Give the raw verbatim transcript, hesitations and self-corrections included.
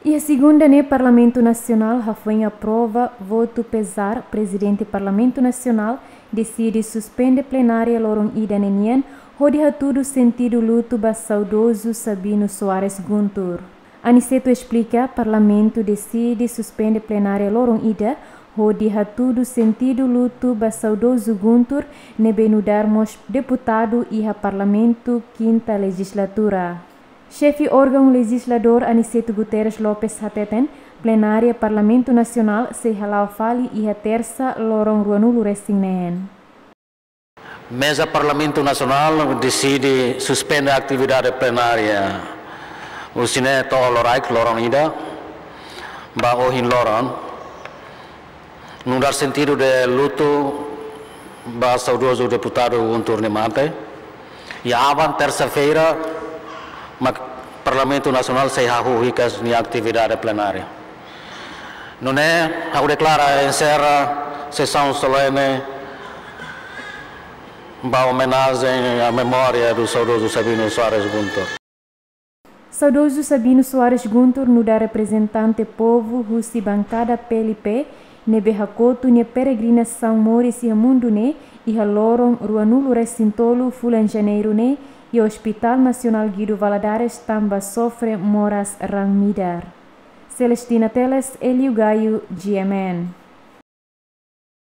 Iha segunda ne'e, Parlamentu Nasionál hafoin aprova votu, pezar Prezidente Parlamentu Nasionál deside suspende plenária loron ida ne'e nian, hodi hatudu sentidu lutu ba saudozu Sabino Soares Guntur. Aniceto esplika, Parlamentu deside suspende plenária loron ida, hodi hatudu sentidu lutu ba saudozu Guntur, ne'ebé nu'udar mós deputadu iha Parlamentu kinta lejizlatura. Xefe órgaun lejizladór Aniceto Guterres Lopes hateten, plenária Parlamentu Nasionál sei hala'o fali iha Tersa, loron ruanulu resin neen. Meza Parlamentu Nasionál deside suspende atividade plenária husi ne'e to'o loraik, loron ida, ba ohin loron, nu'udar sentidu de lutu ba saudozu deputadu Guntur nia mate. I aban, tersa-feira, mak Parlamentu Nasionál sei hahú hikas nia atividade plenária. Nune'e, ha'u deklara enserra sesaun solene ba omenajen à memória do saudoso Sabino Soares Guntur. Saudozu Sabino Soares Guntur nu'udar reprezentante povu husi bankada P L P, ne'ebé hakotu nia peregrinasaun moris iha mundu ne'e, iha loron ruanulu resin tolu fulan Janeiru ne'e, iha Hospital Nasionál Guido Valadares, tanba sofre moras raan midar. Celestina Teles, Elio Gaio, G M N.